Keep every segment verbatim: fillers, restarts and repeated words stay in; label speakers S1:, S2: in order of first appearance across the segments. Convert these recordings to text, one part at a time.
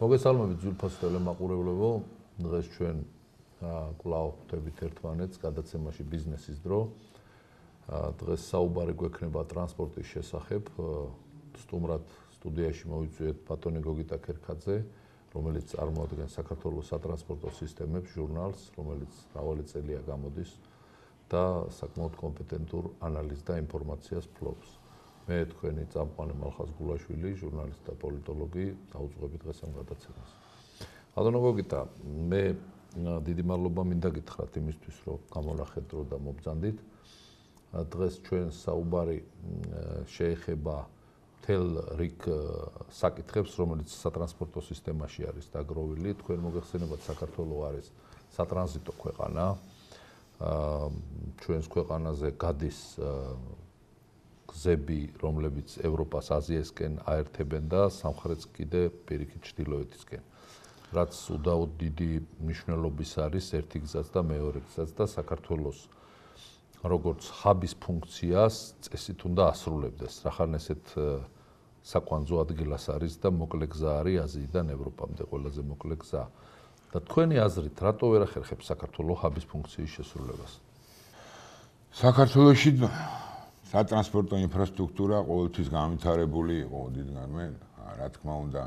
S1: მოგესალმებით ძვირფას ტელემაყურებლებო, დღეს ჩვენ კვლავ ხვდებით ერთმანეთს გადაცემაში ბიზნესის დრო. დღეს საუბარი გვექნება ტრანსპორტის შესახებ. სტუმრად სტუდიაში მოვიწვიეთ ბატონი გოგიტა ქერქაძე, რომელიც წარმოადგენს საქართველოს სატრანსპორტო სისტემებს ჟურნალს, რომელიც მრავალი წელია გამოდის და საკმაოდ კომპეტენტურ ანალიზს და ინფორმაციას ფლობს. მე თქვენი წამყვანი მალხაზ გულაშვილი, ჟურნალისტი და პოლიტოლოგი, დავუძღვები დღეს ამ გადაცემას. ბატონო გოგიტა, მე დიდი მადლობა მინდა გითხრათ იმისთვის, რომ გამონახეთ დრო და მობრძანდით. დღეს ჩვენ საუბარი შეეხება მთელ რიგ საკითხებს, რომელიც სატრანსპორტო სისტემაში არის დაგროვილი. თქვენ მოგეხსენებათ, საქართველო არის სატრანზიტო ქვეყანა. ჩვენს ქვეყანაზე გადის გზები, რომლებიც ევროპას აზიასკენ აერთებენ და სამხრეთს კიდე პირიქით ჩრდილოეთისკენ. რაც უდაოდ დიდი მნიშვნელობის არის ერთი გზაც და მეორე გზაც და საქართველოს როგორც ჰაბის ფუნქციას წესით უნდა ასრულებდეს. რახან ესეთ საკვანძო ადგილას არის და მოკლე გზა არის აზიიდან ევროპამდე ყველაზე მოკლე გზა. და თქვენი აზრით, რატო ვერ ახერხებს საქართველოს ჰაბის ფუნქციის შესრულებას?
S2: საქართველოში სატრანსპორტო ინფრასტრუქტურა ყოველთვის განვითარებული იყო დიდგანვე. რა თქმა უნდა,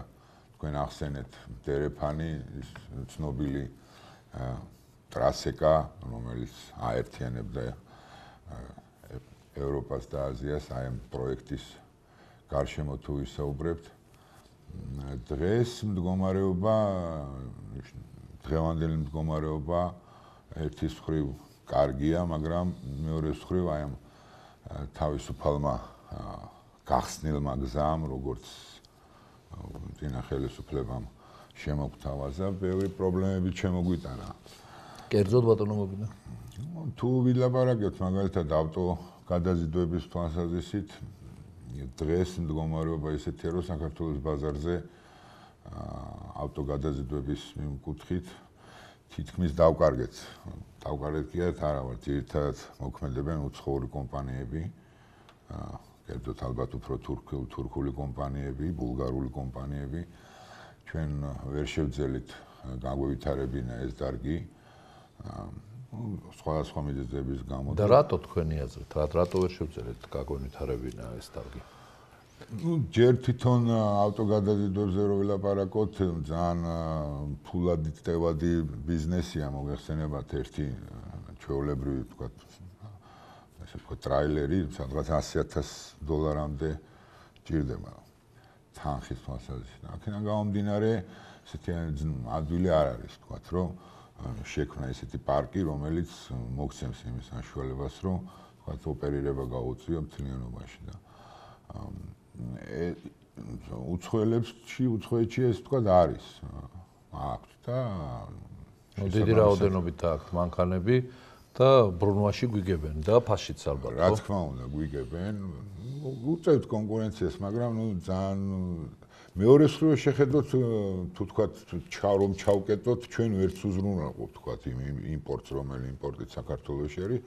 S2: თქვენ ახსენეთ დერეფანი, ცნობილი ტრასეკა, რომელიც აერთიანებდა ევროპას და აზიას, აი ამ პროექტის გარშემო თუ ვისაუბრებთ. დღეს მდგომარეობა, დღევანდელი მდგომარეობა ერთის მხრივ კარგია, მაგრამ მეორეს მხრივ აი ამ თავისუფალმა გახსნილმა გზამ, როგორც წინა ხელისუფლებამ შემოგთავაზა, ბევრი პრობლემები შემოგვიტანა.
S1: კერძოდ ბატონო გოგიტა?
S2: თუ ვილაპარაკებთ მაგალითად ავტო გადაზიდვების თვალსაზრისით, დღეს მდგომარეობა ისეთია, რომ საქართველოს ბაზარზე ავტო გადაზიდვების მიმკუთხით თითქმის დავკარგეთ. დავკარგეთ კი არა, ვარ ძირითადად მოქმედებენ უცხოური კომპანიები, კერძოდ ალბათ უფრო თურქული კომპანიები, ბულგარული კომპანიები. ჩვენ ვერ შევძელით გაგვევითარებინა ეს დარგი. სხვადასხვა მიზეზების გამო.
S1: და რატო თქვენი აზრით, რატო ვერ შევძელით გაგვევითარებინა ეს დარგი?
S2: ну, ჯერ თვითონ ავტოგადაზიდვებზე რო ვილაპარაკოთ, ძალიან ფულადი წევადი ბიზნესია, მოგეხსენებათ ერთი ჩვეულებრივი, ვთქვათ, ასე ვთქვათ, ტრაილერი, სადღაც ასი ათასი დოლარამდე ჭირდება თანხის თვალსაზრისით. აქედან გამომდინარე, ესეთი ადვილი არ არის, ვთქვათ, რომ შექმნა ესეთი პარკი, რომელიც მოგცემს იმის საშუალებას, რომ ვთქვათ, ოპერირება გაუწიო მთლიანობაში და უცხოელებში, უცხოეთში ეს ვთქვათ არის. აქვთ და
S1: დიდი რაოდენობით აქვთ მანქანები და ბრუნვაში გვიგებენ და ფაშიც ალბათ.
S2: რა თქმა უნდა, გვიგებენ. უწევთ კონკურენციას, მაგრამ ნუ ძალიან მეორე მხრივ შეხედოთ, თუ თქვათ, რომ ჩავკეტოთ, ჩვენ ვერც უზრუნველყოფ, თქვათ, იმ იმპორტს, რომელი იმპორტით საქართველოში არის,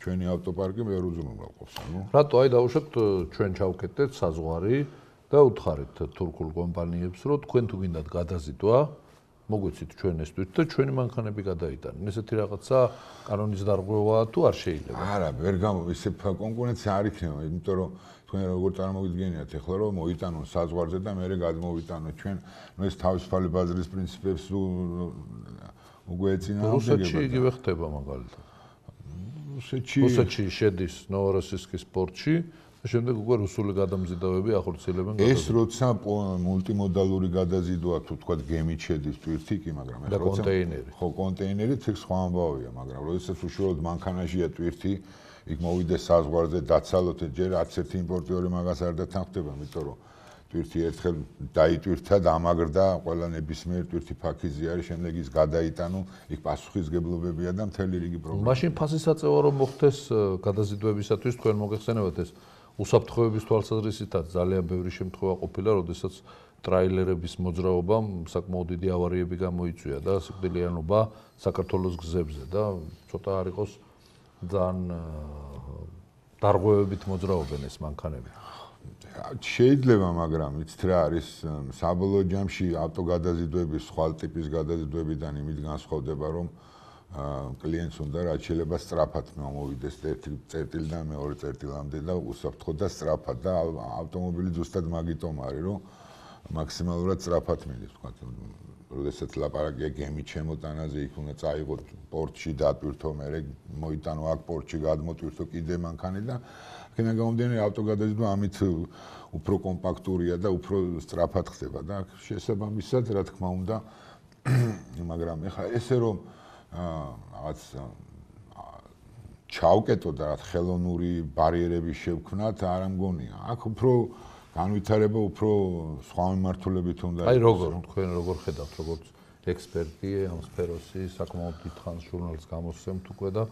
S2: ჩვენი ავტოპარკი ვერ უზრუნველყოფს. ანუ
S1: რატო აი დავუშვათ ჩვენ ჩავკეტეთ საზღვარი და უთხარით თურქულ კომპანიებს, რომ თქვენ თუ გინდათ გადაზიდვა, მოგვიცით ჩვენ ესთვით და ჩვენი მანქანები გადაიტანენ. ესეთი რაღაცა კანონის დარღვევაა თუ არ შეიძლება?
S2: არა, ვერ გამო ისე კონკურენცია არ იქნება, იმიტომ რომ თქვენ როგორ წარმოგიდგენიათ ახლა რომ მოიტანონ საზღვარზე და მერე გადმოვიტანოთ ჩვენ, ნუ ეს თავისუფალი ბაზრის პრინციპებს უკვე ეწინააღმდეგება.
S1: რუსეთში იგივე ხდება მაგალითად.
S2: რუსეთში
S1: რუსეთში შედის ნოვოროსისკის პორტში და შემდეგ უკვე რუსული გადამზიდავები ახორციელებენ გადაზიდვას.
S2: ეს როცა მულტიმოდალური გადაზიდვა თუ თქვათ გემით შედის ტვირთი კი, მაგრამ
S1: ეს როცა კონტეინერი.
S2: ხო, კონტეინერით ეს სხვა ამბავია, მაგრამ როდესაც უშუალოდ მანქანაშია ტვირთი, იქ მოვიდეს საზღვარზე დაცალოთ, ჯერ არც ერთი იმპორტიორი მაგას არ დათანხმდება, იმიტომ რომ ტვირთი ერთხელ დაიტვირთა, დამაგრდა, ყველა ნებისმიერ ტვირთი ფაქიზი არის, შემდეგ ის გადაიტანო, იქ პასუხისგებლობებია და მთელი რიგი პრობლემა.
S1: მაშინ ფასის აწევა რომ მოხდეს გადაზიდვებისათვის, თქვენ მოგეხსენებათ ეს უსაფრთხოების თვალსაზრისითაც ძალიან ბევრი შემთხვევა ყოფილა, როდესაც ტრაილერების მოძრაობამ საკმაოდ დიდი ავარიები გამოიწვია და სიკვდილიანობა საქართველოს გზებზე და ცოტა არ იყოს ძალიან დარღვევებით მოძრაობენ ეს მანქანები.
S2: შეიძლება, მაგრამ იცით რა არის საბოლოო ჯამში ავტოგადაზიდვების, სხვა ტიპის გადაზიდვებიდან იმით განსხვავდება, რომ კლიენტს უნდა რაც შეიძლება სწრაფად მომოვიდეს ერთი წერტილიდან მეორე წერტილამდე და უსაფრთხოდ და სწრაფად და ავტომობილი ზუსტად მაგიტომ არის, რომ მაქსიმალურად სწრაფად მიდის, თქვა. როდესაც ლაპარაკია გემით შემოტანაზე, იქ უნდა წაიღოთ პორტში დატვირთო, მერე მოიტანო აქ პორტში გადმოტვირთო კიდე მანქანა და აქედან გამომდინარე ავტოგადაზიდვა ამით უფრო კომპაქტურია და უფრო სწრაფად ხდება და შესაბამისად, რა თქმა უნდა, მაგრამ ეხლა ესე რომ რაღაც ჩავკეტო და რაღაც ხელოვნური ბარიერები შევქმნათ, არ ამგონია. აქ უფრო განვითარება უფრო სხვა მიმართულებით უნდა
S1: იყოს. აი როგორ თქვენ როგორ ხედავთ, როგორც ექსპერტი ამ სფეროსი, საკმაოდ დიდხანს ჟურნალს გამოსცემთ უკვე და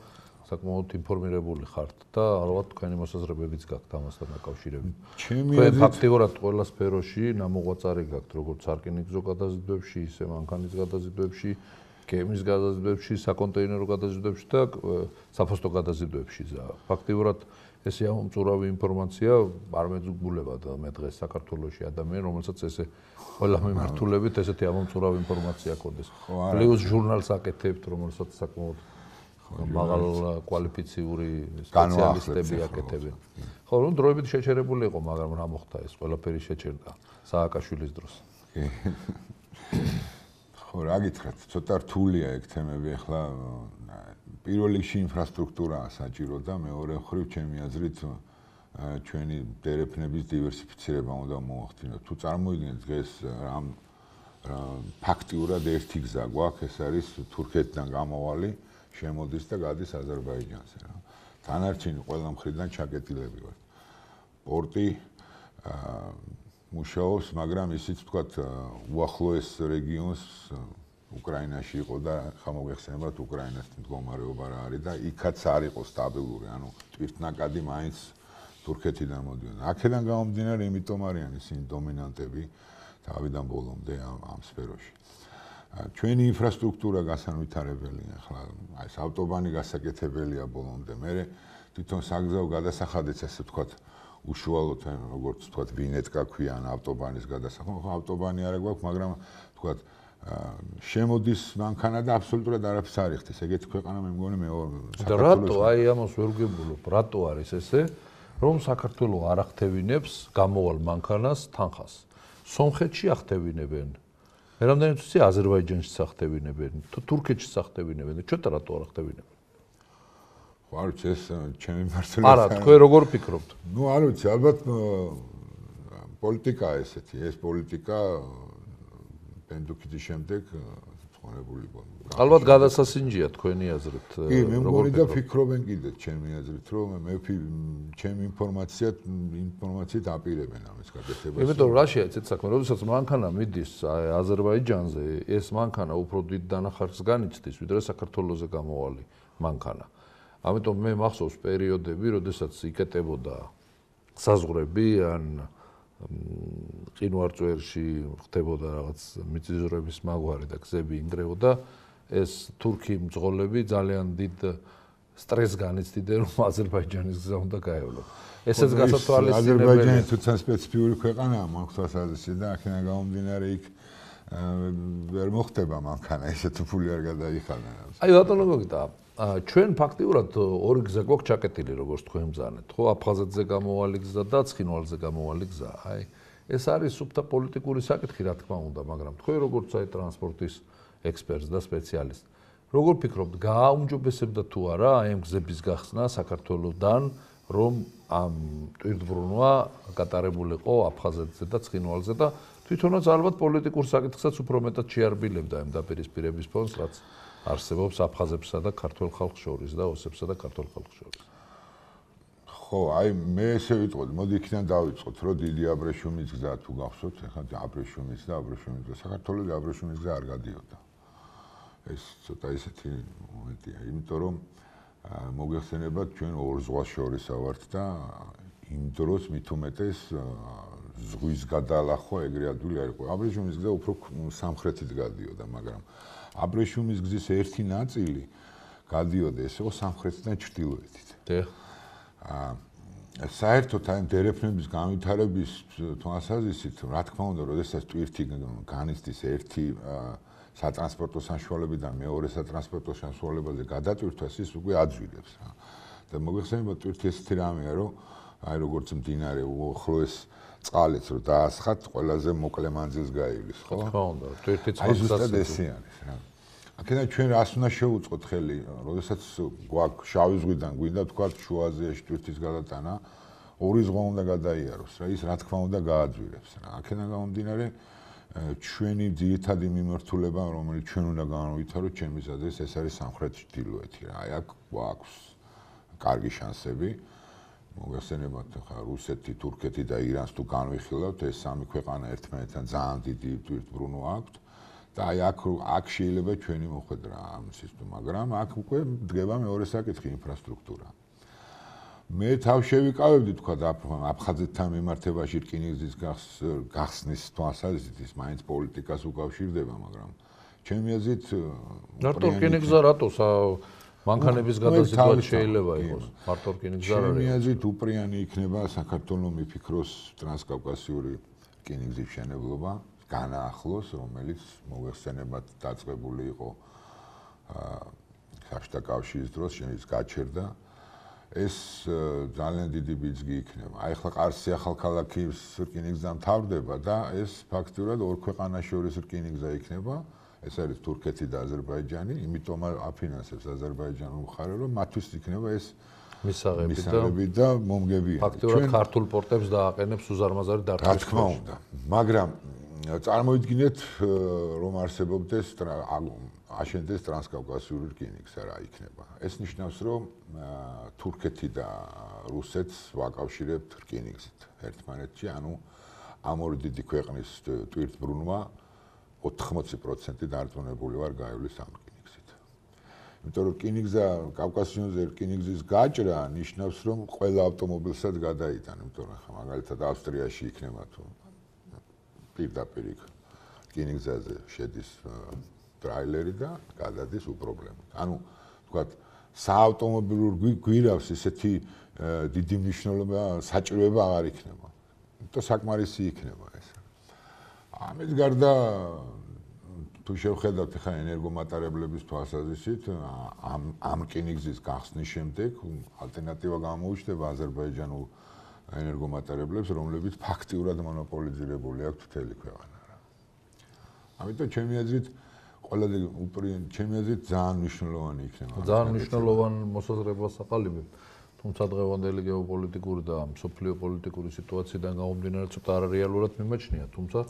S1: საკმაოდ ინფორმირებული ხართ და ალბათ თქვენი მოსაზრებებიც გაქვთ ამასთან დაკავშირებით. თქვენ ფაქტიურად ყველა სფეროში ნამოღვაწარი გაქვთ, როგორც სარკინიგზო გადაზიდვებში, ისე მანქანის გადაზიდვებში, გემის გადაზიდვებში, საკონტეინერო გადაზიდვებში და საფოსტო გადაზიდვებში. ფაქტიურად ესე ამომწურავი ინფორმაცია არ მეძგულება და მე დღეს საქართველოში ადამიანი, რომელსაც ესე ყველა მიმართულებით ესეთი ამომწურავი ინფორმაცია ჰქონდეს. პლუს ჟურნალს აკეთებთ, რომელსაც საკმაოდ მაღალ კვალიფიციური სპეციალისტები აკეთებენ. ხო, რომ დროებით შეჩერებული იყო, მაგრამ რა მოხდა ეს ყველაფერი შეჩერდა სააკაშვილის დროს.
S2: ხო, რა გითხრათ, ცოტა რთულია ეგ თემები ახლა პირველ რიგში ინფრასტრუქტურაა საჭირო და მეორე მხრივ ჩემი აზრით ჩვენი დერეფნების დივერსიფიცირება უნდა მოახდინოთ. თუ წარმოიდგინეთ დღეს რამ ფაქტიურად ერთი გზა გვაქვს, ეს არის თურქეთიდან გამოვალი, შემოდის და გადის აზერბაიჯანზე რა. დანარჩენი ყველა მხრიდან ჩაკეტილები ვართ. პორტი მუშაობს, მაგრამ ისიც ვთქვათ, უახლოეს რეგიონს უკრაინაში იყო და ხა მოგეხსენებათ უკრაინას მდგომარეობა რა არის და იქაც არ იყო სტაბილური, ანუ ტვირთნაკადი მაინც თურქეთიდან მოდიოდა. აქედან გამომდინარე, იმიტომ არიან ისინი დომინანტები თავიდან ბოლომდე ამ ამ სფეროში. ჩვენი ინფრასტრუქტურა გასანვითარებელია, ახლა აი ეს ავტობანი გასაკეთებელია ბოლომდე. მე თვითონ საგზაო გადასახადიც ასე ვთქვათ, უშუალოდ როგორც ვთქვათ, ვინეტკა ქვიან ავტობანის გადასახადი. ხო, ავტობანი არა გვაქვს, მაგრამ ვთქვათ შემოდის მანქანა და აბსოლუტურად არაფერს არ იხდის. ეგეთი ქვეყანა მე მგონი მეორე
S1: საქართველოს. რატო აი ამას ვერ ვგებულობ? რატო არის ესე, რომ საქართველოს არ ახდევინებს გამოვალ მანქანას თანხას? სომხეთში ახდევინებენ. მე რამდენიც ვიცი, აზერბაიჯანში ახდევინებენ, თუ თურქეთში ახდევინებენ და ჩვენთან რატო არ ახდევინებენ?
S2: ხო, არ ვიცი, ეს ჩემი მართლობა.
S1: არა, თქვენ როგორ ფიქრობთ?
S2: ნუ არ ვიცი, ალბათ პოლიტიკაა ესეთი, ეს პოლიტიკა პენდუქიძის შემდეგ ცხონებული გონი.
S1: ალბათ გადასასინჯია თქვენი აზრით.
S2: კი, მე მგონი და ფიქრობენ კიდე ჩემი აზრით, რომ მე ჩემი ინფორმაციად ინფორმაციით აპირებენ ამის გაკეთებას.
S1: იმიტომ რა შეეცეთ საქმე, როდესაც მანქანა მიდის აზერბაიჯანზე, ეს მანქანა უფრო დიდ დანახარს განიცდის, ვიდრე საქართველოზე გამოვალი მანქანა. ამიტომ მე მახსოვს პერიოდები, როდესაც იკეტებოდა საზღვრები ან ყინვარწვერში ხდებოდა რაღაც მიწისძვრების მაგვარი და გზები ინგრეოდა, ეს თურქი მძღოლები ძალიან დიდ სტრესს განიცდიდნენ, რომ აზერბაიჯანის გზა უნდა გაევლო. ესეც გასათვალისწინებელია.
S2: აზერბაიჯანი თუცა სპეციფიური ქვეყანაა, მაგას აზრში და აქედან გამომდინარე იქ ვერ მოხდება მანქანა, ესეთი ფული არ გადაიხადა.
S1: აი ბატონო გოგიტა, ჩვენ ფაქტიურად ორი გზა გვაქვს ჩაკეტილი, როგორც თქვენ მზანეთ, ხო, აფხაზეთზე გამოვალი გზა და ცხინვალზე გამოვალი გზა. აი, ეს არის სუფთა პოლიტიკური საკითხი, რა თქმა უნდა, მაგრამ თქვენ როგორც აი ტრანსპორტის ექსპერტს და სპეციალისტ, როგორ ფიქრობთ, გააუმჯობესებდა თუ არა აი ამ გზების გახსნა საქართველოსდან, რომ ამ ტვირთბრუნვა გატარებულიყო აფხაზეთზე და ცხინვალზე და თვითონაც ალბათ პოლიტიკურ საკითხსაც უფრო მეტად შეარბილებდა ამ დაპირისპირების ფონს, რაც არსებობს აფხაზებსა და ქართულ ხალხს შორის და ოსებსა და ქართულ ხალხს შორის.
S2: ხო, აი მე ესე ვიტყოდი, მოდი იქიდან დავიწყოთ, რომ დიდი აბრეშუმის გზა თუ გახსოვთ, ახლა აბრეშუმის და აბრეშუმის გზა, საქართველოს აბრეშუმის გზა არ გადიოდა. ეს ცოტა ისეთი მომენტია, იმიტომ რომ მოგეხსენებათ, ჩვენ ორ ზღვას შორის ავართ და იმ დროს მით უმეტეს ზღვის გადალახვა ეგრე ადვილი არ იყო. აბრეშუმის გზა უფრო სამხრეთით გადიოდა, მაგრამ აბრეშუმის გზის ერთი ნაწილი გადიოდა ესე იყო სამხრეთიდან ჩრდილოეთით.
S1: დიახ.
S2: საერთოდ აი დერეფნების განვითარების თვალსაზრისით, რა თქმა უნდა, როდესაც ტვირთი განიცდის ერთი სატრანსპორტო საშუალებიდან მეორე სატრანსპორტო საშუალებაზე გადატვირთვას, ის უკვე აძვირებს რა. და მოგეხსენებათ ტვირთი ესეთი რამეა, რომ აი როგორც მდინარე უახლოეს წყალიც რო დაასხათ, ყველაზე მოკლე მანძილს გაივლის, ხო?
S1: რა თქმა უნდა, ტვირთიც
S2: აი ზუსტად ესე არის რა. აქედან ჩვენ რას უნდა შევუწყოთ ხელი, როდესაც გვაქვს შავი ზღვიდან გვინდა თქვა შუა აზიაში ტვირთის გადატანა, ორი ზღვა უნდა გადაიაროს რა, ის რა თქმა უნდა გააძვირებს რა. აქედან გამომდინარე ჩვენი ძირითადი მიმართულება, რომელიც ჩვენ უნდა განავითაროთ ჩემის აზრით, ეს არის სამხრეთ ჩრდილოეთი რა. აი აქ გვაქვს კარგი შანსები. მოგეხსენებათ ხა რუსეთი, თურქეთი და ირანს თუ განვიხილავთ, ეს სამი ქვეყანა ერთმანეთთან ძალიან დიდი ტვირთბრუნვა აქვთ. და აი აქ აქ შეიძლება ჩვენი მოხვედრა ამ სისტემას, მაგრამ აქ უკვე დგება მეორე საკითხი ინფრასტრუქტურა. მე თავ შევიკავებდი თქვა და აფხაზეთთან მიმართებაში რკინიგზის გახსნის თვალსაზრისით ის მაინც პოლიტიკას უკავშირდება, მაგრამ ჩემი აზრით
S1: მარტო რკინიგზა რატო მანქანების გადაზიდვა შეიძლება იყოს, მარტო რკინიგზა არ არის.
S2: ჩემი აზრით უპრიანი იქნება საქართველოს მიფიქროს ტრანსკავკასიური რკინიგზის მშენებლობა, განაახლოს, რომელიც მოგეხსენებათ დაწყებული იყო საბჭოთა კავშირის დროს, შენის გაჩერდა. ეს ძალიან დიდი ბიძგი იქნება. აი ახლა ყარსი ახალქალაქის რკინიგზა მთავრდება და ეს ფაქტურად ორ ქვეყანას შორის რკინიგზა იქნება. ეს არის თურქეთი და აზერბაიჯანი, იმიტომ აფინანსებს აზერბაიჯანული მხარე, რომ მათთვის იქნება ეს მისაღები და მომგებიანი.
S1: ფაქტურად ქართულ პორტებს დააყენებს უზარმაზარი დარტყმის.
S2: რა თქმა უნდა, მაგრამ წარმოიდგინეთ, რომ არსებობდეს აშენდეს ტრანსკავკასიური რკინიგზა რა იქნება. ეს ნიშნავს, რომ თურქეთი და რუსეთს ვაკავშირებთ რკინიგზით ერთმანეთში, ანუ ამ ორი დიდი ქვეყნის ტვირთბრუნვა ოთხმოცი პროცენტი დარწმუნებული ვარ გაივლის ამ რკინიგზით. იმიტომ რომ რკინიგზა კავკასიონზე რკინიგზის გაჭრა ნიშნავს, რომ ყველა ავტომობილსაც გადაიტან, იმიტომ რომ ხა მაგალითად ავსტრიაში იქნება თუ პირდაპირ რკინიგზაზე შედის ტრაილერი და გადადის უპრობლემოდ. ანუ თქვათ საავტომობილო გვირავს ესეთი დიდი მნიშვნელობა, საჭიროება აღარ იქნება. იმიტომ საკმარისი იქნება ეს. ამის გარდა თუ შევხედავთ ხა ენერგომატარებლების თვალსაზრისით, ამ ამ რკინიგზის გახსნის შემდეგ ალტერნატივა გამოუჩნდება აზერბაიჯანულ ენერგომატარებლებს, რომლებიც ფაქტიურად მონოპოლიზირებული აქვთ მთელი ქვეყანა რა. ამიტომ ჩემი აზრით ყველაზე ჩემი აზრით ძალიან მნიშვნელოვანი იქნება.
S1: ძალიან მნიშვნელოვანი მოსაზრებას აყალიბებ. თუმცა დღევანდელი გეოპოლიტიკური და მსოფლიო პოლიტიკური სიტუაციიდან გამომდინარე ცოტა არარეალურად მიმაჩნია, თუმცა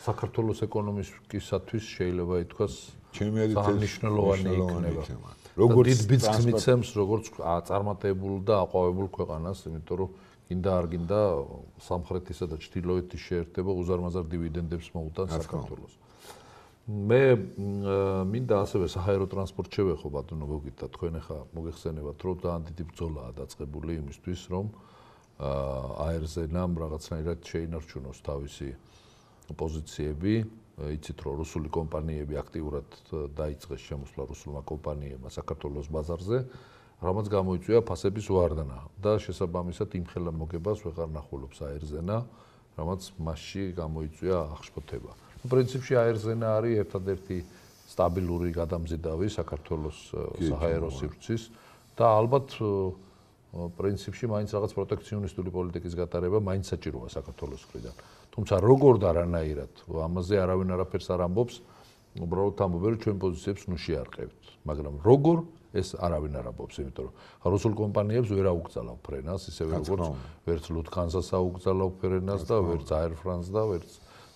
S1: საქართველოს ეკონომიკისათვის შეიძლება ითქვას ძალიან მნიშვნელოვანი იქნება.
S2: როგორც
S1: დიდ ბიძგს მიცემს, როგორც წარმატებულ და აყვავებულ ქვეყანას, იმიტომ რომ გინდა არ გინდა სამხრეთისა და ჩრდილოეთის შეერთება უზარმაზარ დივიდენდებს მოუტანს საქართველოს. მე მინდა ასევე საჰაერო ტრანსპორტ შევეხო ბატონო გოგიტა, თქვენ ახლა მოგეხსენებათ, რომ ძალიან დიდი ბრძოლაა დაწყებული იმისთვის, რომ აერზენამ რაღაცნაირად შეინარჩუნოს თავისი პოზიციები, იცით რომ რუსული კომპანიები აქტიურად დაიწყეს შემოსვლა რუსულმა კომპანიებმა საქართველოს ბაზარზე, რამაც გამოიწვია ფასების ვარდნა და შესაბამისად იმ ხელა მოგებას ვეღარ ნახულობს აერზენა, რამაც მასში გამოიწვია აღშფოთება. პრინციპში აერზენა არის ერთადერთი სტაბილური გადამზიდავი საქართველოს საჰაერო სივრცის და ალბათ პრინციპში მაინც რაღაც პროტექციონისტული პოლიტიკის გატარება მაინც საჭიროა საქართველოს მხრიდან. თუმცა როგორ და რანაირად ამაზე არავინ არაფერს არ ამბობს, უბრალოდ ამბობენ რომ ჩვენ პოზიციებს ნუ შეარყევთ, მაგრამ როგორ ეს არავინ არ ამბობს, იმიტომ რომ რუსულ კომპანიებს ვერ აუკრძალავ ფრენას, ისევე როგორც ვერც ლუთგანზას აუკრძალავ ფრენას და ვერც Air France და ვერც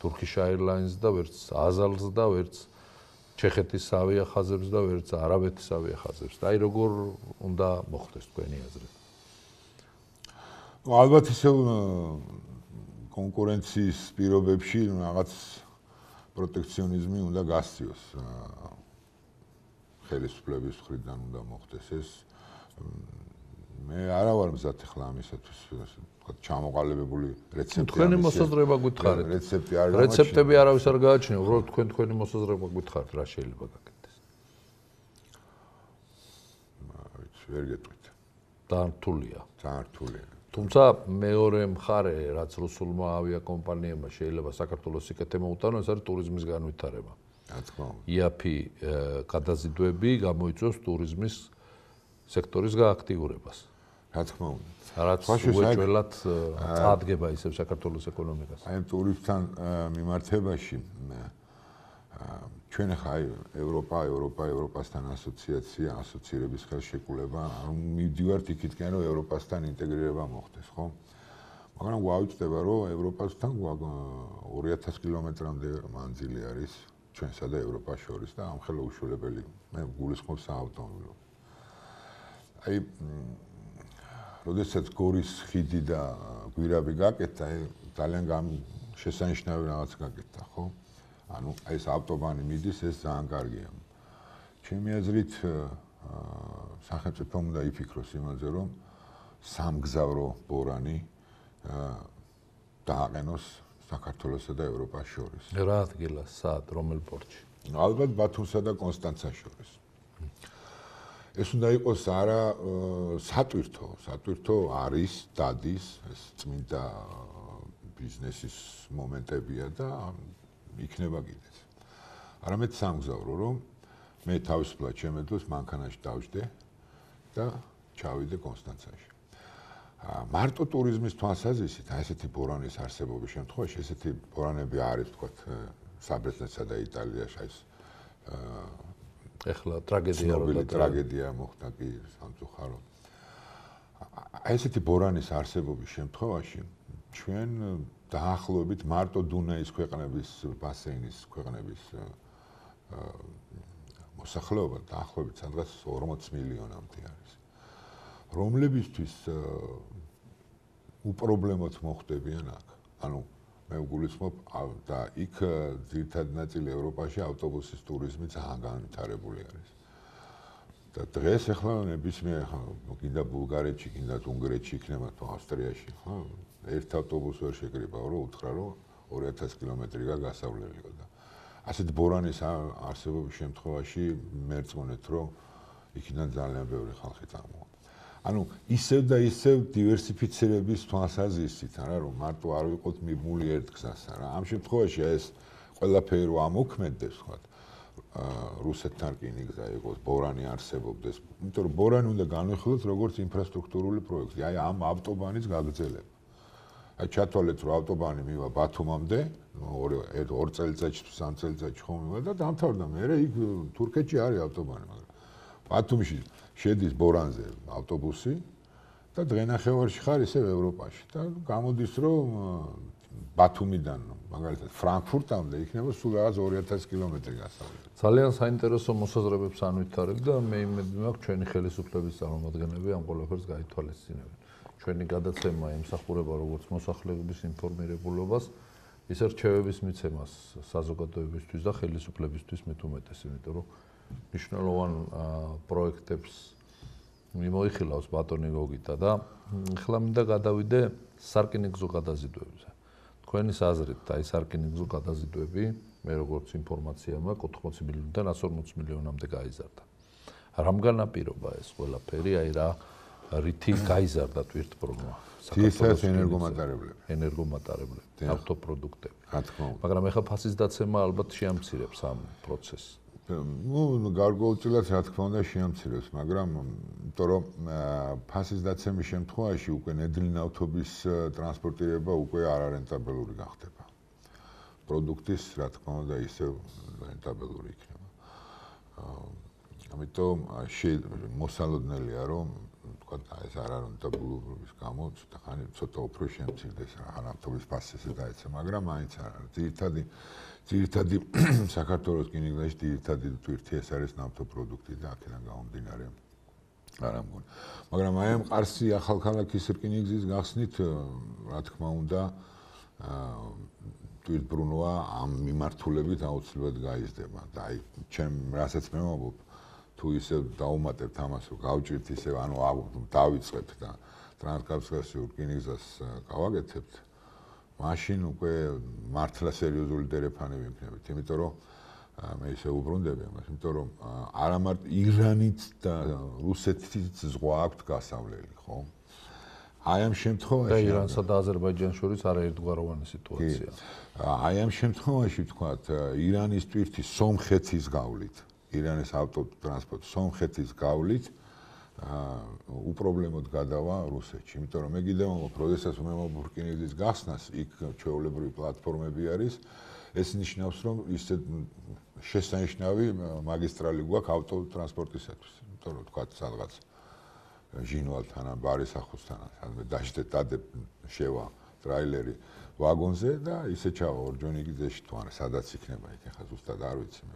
S1: Turkish Airlines და ვერც Azals და ვერც ჩეხეთის ავიახაზებს და ვერც არაბეთის ავიახაზებს. და აი როგორ უნდა მოხდეს თქვენი აზრით?
S2: ალბათ ისე კონკურენციის პირობებში რაღაც პროტექციონიზმი უნდა გასციოს. ხელისუფლების მხრიდან უნდა მოხდეს ეს. მე არა ვარ მზად ახლა ამისათვის, თქვა ჩამოყალიბებული რეცეპტი.
S1: თქვენი მოსაზრება გითხარით.
S2: რეცეპტი არ
S1: გამოჩნდა. რეცეპტები არავის არ გააჩნია, უბრალოდ თქვენ თქვენი მოსაზრება გითხარით, რა შეიძლება გაკეთდეს.
S2: ვიცი, ვერ გეტყვით.
S1: ძალიან რთულია.
S2: ძალიან რთულია.
S1: თუმცა მეორე მხარე, რაც რუსულმა ავიაკომპანიებმა შეიძლება საქართველოს სიკეთე მოუტანო, ეს არის ტურიზმის განვითარება.
S2: რა თქმა უნდა.
S1: ი эй პი გადაზიდვები გამოიწვევს ტურიზმის სექტორის გააქტიურებას.
S2: რა თქმა უნდა.
S1: რაც უეჭველად წარადგება ისევ საქართველოს ეკონომიკას.
S2: აი ტურისტთან მიმართებაში ჩვენ ხა აი ევროპა, ევროპა, ევროპასთან ასოციაცია, ასოცირების ხელშეკრულება, ანუ მივდივართ იქითკენ, რომ ევროპასთან ინტეგრირება მოხდეს, ხო? მაგრამ გვაუწყდება, რომ ევროპასთან ორი ათასი კილომეტრამდე მანძილი არის ჩვენსა და ევროპას შორის და ამხელა უშუალებელი. მე გულისხმობ საავტომობილო. აი როდესაც გორის ხიდი და გვირაბი გაკეთდა, ძალიან შესანიშნავი რაღაც გაკეთდა, ხო? ანუ აი ეს ავტობანი მიდის, ეს ძალიან კარგია. ჩემი აზრით, სახელმწიფომ უნდა იფიქროს იმაზე, რომ სამგზავრო ბორანი დააყენოს საქართველოსა და ევროპას შორის.
S1: რა ადგილას, სად, რომელ პორტში?
S2: ალბათ ბათუმსა და კონსტანცას შორის. ეს უნდა იყოს არა სატვირთო, სატვირთო არის, დადის, ეს წმინდა ბიზნესის მომენტებია და იქნება კიდეც. არამედ სამგზავრო, რომ მე თავისუფლად შემეძლოს მანქანაში დავждე და ჩავიდე კონსტანცაში. მარტო ტურიზმის თვალსაზრისით, აი ესეთი ბორანის არსებობის შემთხვევაში, ესეთი ბორანები არის, თქვათ, საბრეთნეთსა და იტალიაში, აი ეს
S1: ეხლა ტრაგედია
S2: როდა ტრაგედია მოხდა კი სამწუხაროდ. აი ესეთი ბორანის არსებობის შემთხვევაში ჩვენ დაახლოებით მარტო დუნაის ქვეყნების ბასეინის ქვეყნების მოსახლეობა დაახლოებით სადღაც ორმოც მილიონამდე არის. რომლებისთვის უპრობლემოდ მოხდებიან აქ. ანუ მე ვგულისხმობ და იქ ძირითადად ნაწილი ევროპაში ავტობუსის ტურიზმი ძალიან განვითარებული არის. და დღეს ახლა ნებისმიერ კიდე ბულგარეთში, კიდე უნგრეთში იქნება თუ ავსტრიაში, ხო? ერთ ავტობუსს ვერ შეკრიბავ, რომ უთხრა, რომ ორი ათასი კილომეტრი გასავლელიო და ასეთ ბორანის არსებობის შემთხვევაში მერწმუნეთ, რომ იქიდან ძალიან ბევრი ხალხი წამოვა. ანუ ისევ და ისევ დივერსიფიცირების თვალსაზრისით, არა რომ მარტო არ ვიყოთ მიბმული ერთ გზასთან, რა. ამ შემთხვევაში ეს ყველაფერი რო ამოქმედდეს, ხო? რუსეთთან რკინი გზა იყოს, ბორანი არსებობდეს. იმიტომ რომ ბორანი უნდა განვიხილოთ როგორც ინფრასტრუქტურული პროექტი, აი ამ ავტობანის გაგრძელება. აი ჩათვალეთ რომ ავტობანი მივა ბათუმამდე, ორი ორ წელიწადში თუ სამ წელიწადში ხომ მივა და დამთავრდა. მერე იქ თურქეთში არის ავტობანი, მაგრამ ბათუმში შედის ბორანზე ავტობუსი და დღენახევარში ხარ ისევ ევროპაში და გამოდის რომ ბათუმიდან მაგალითად ფრანკფურტამდე იქნება სულ რაღაც ორი ათასი კილომეტრი გასავლელი.
S1: ძალიან საინტერესო მოსაზრებებს ანვითარებ და მე იმედი მაქვს ჩვენი ხელისუფლების წარმომადგენლები ამ ყველაფერს გაითვალისწინებენ. ჩვენი გადაცემა ემსახურება როგორც მოსახლეობის ინფორმირებულობას, ისე რჩევების მიცემას საზოგადოებისთვის და ხელისუფლებისთვის მით უმეტეს, იმიტომ რომ მნიშვნელოვან პროექტებს მიმოიხილავს ბატონი გოგიტა და ახლა მინდა გადავიდე სარკინიგზო გადაზიდვებზე. თქვენის აზრით, აი სარკინიგზო გადაზიდვები, მე როგორც ინფორმაცია მაქვს, ოთხმოცი მილიონიდან ასი ორმოცი მილიონამდე გაიზარდა. რამგან აპირობა ეს ყველაფერი, აი რა რითი გაიზარდა თვითმფრინავმა?
S2: საქართველოს ენერგომატარებლები,
S1: ენერგომატარებლები, ავტოპროდუქტები.
S2: რა თქმა უნდა.
S1: მაგრამ ახლა ფასის დაცემა ალბათ შეამცირებს ამ პროცესს.
S2: ну გარკვეულწილად რა თქმა უნდა შეამცირებს, მაგრამ იმიტომ რომ ფასის დაცემის შემთხვევაში უკვე ნედლინავთობის ტრანსპორტირება უკვე არარენტაბელური გახდება. პროდუქტის რა თქმა უნდა ისევ რენტაბელური იქნება. ამიტომ მოსალოდნელია რომ თქვა ეს არარენტაბელურობის გამო ცოტა ხანი ცოტა უფრო შემცირდეს რა ნავთობის ფასზე დაეცა, მაგრამ მაინც არა. ძირითადი ძირითადი საქართველოს რკინიგზაში ძირითადი თვირთი ეს არის ნავთობპროდუქტი და აქედან გამომდინარე არ ამგონი. მაგრამ აი ამ ყარსი ახალქალაქის რკინიგზის გახსნით რა თქმა უნდა თვითმფრინავა ამ მიმართულებით აუცილებლად გაიზრდება და აი ჩემ რასაც მე ვამბობ თუ ისე დაუმატებთ ამას რომ გავჭირთ ისე ანუ დავიწყებთ და ტრანსკავკასიურ რკინიგზას გავაკეთებთ მაშინ უკვე მართლა სერიოზული დერეფანები ვიქნებით, იმიტომ რომ მე ისე უბრუნდები ამას, იმიტომ რომ არა მარტო ირანით და რუსეთით ზღვა აქვთ გასავლელი, ხო? აი ამ შემთხვევაში
S1: და ირანსა და აზერბაიჯანს შორის არაერთგვაროვანი სიტუაცია.
S2: აი ამ შემთხვევაში ვთქვათ, ირანის ტვირთი სომხეთის გავლით, ირანის ავტოტრანსპორტი სომხეთის გავლით უპრობლემოდ გადავა რუსეთში, იმიტომ რომ მე კიდევ მომავალ როდესაც მე მოფრკინების გახსნას, იქ ჩვეულებრივი პლატფორმები არის, ეს ნიშნავს, რომ ისე შესანიშნავი მაგისტრალი გვაქვს ავტოტრანსპორტისათვის, იმიტომ რომ ვთქვათ სადღაც ჟინვალთან ან ბარისახოსთან, სადმე დაждეთ დადებ შევა ტრაილერი ვაგონზე და ისე ჩავა ორჯონიკიძეში თუ არა სადაც იქნება იქ ახლა ზუსტად არ ვიცი მე.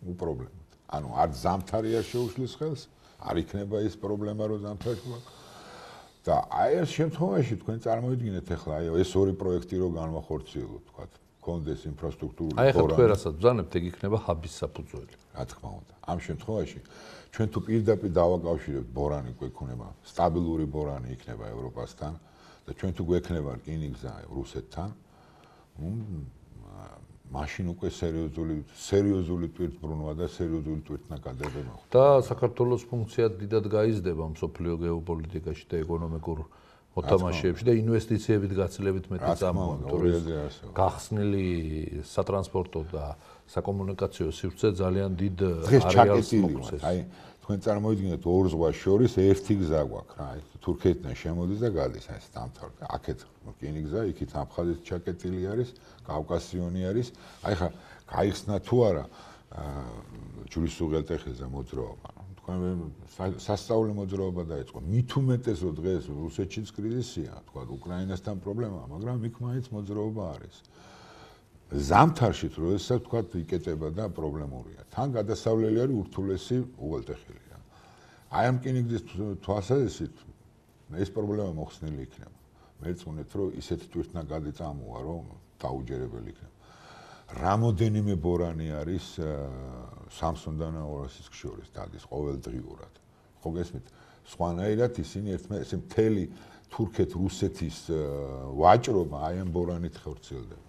S2: უპრობლემოდ. ანუ არ ზამთარი არ შეუშლის ხელს, არ იქნება ის პრობლემა რომ ზამთარი გვაქვს. და აი ეს შემთხვევაში თქვენ წარმოვიდგინეთ ახლა აი ეს ორი პროექტი რო განვახორციელოთ, თქვათ, კონდეს ინფრასტრუქტურული
S1: აი ახლა თქვენ რასაც ბრძანებთ, ეგ იქნება ჰაბის საფუძველი.
S2: რა თქმა უნდა. ამ შემთხვევაში ჩვენ თუ პირდაპირ დავაკავშირებთ ბორანი გვექნება, სტაბილური ბორანი იქნება ევროპასთან და ჩვენ თუ გვექნება რკინიგზა რუსეთთან, მაშინ უკვე სერიოზული სერიოზული ტვირთბრუნვა და სერიოზული ტვირთნაკადები მოხდა.
S1: და საქართველოს ფუნქცია დიდად გაიზრდება მსოფლიო გეოპოლიტიკაში და ეკონომიკურ მოთამაშეებში და ინვესტიციებით გაცილებით მეტი წამოვა. გახსნილი სატრანსპორტო და საკომუნიკაციო სივრცე ძალიან დიდ არეალს მოგცეს.
S2: აი თქვენ წარმოიდგინეთ ორ ზღვას შორის ერთი გზა გვაქვს რა, თურქეთიდან შემოდის და გადის ეს დამთავრდა. აქეთ რკინიგზა, იქით აფხაზეთ ჩაკეტილი არის, კავკასიონი არის. აი ხა გაიხსნა თუ არა ჯვრის უღელტეხილზე მოძრაობა. თქვენ სასწაული მოძრაობა დაიწყო. მით უმეტეს რომ დღეს რუსეთშიც კრიზისია, თქვა უკრაინასთან პრობლემაა, მაგრამ იქ მაინც მოძრაობა არის. ზამთარში როდესაც თქვა იკეტება და პრობლემურია. თან გადასავლელი არის ურთულესი უღელტეხილი. აი ამ რკინიგზის თვალსაზრისით ეს პრობლემა მოხსნილი იქნება. მეწუნეთ რომ ისეთი ტვირთნაკადი წამოვა რომ დაუჯერებელი იქნება. რამოდენიმე ბორანი არის სამსონდან ორასის შორის დადის ყოველდღიურად. ხო გესმით? სხვანაირად ისინი ერთმანეთს მთელი თურქეთ-რუსეთის ვაჭრობა აი ამ ბორანით ხორციელდება.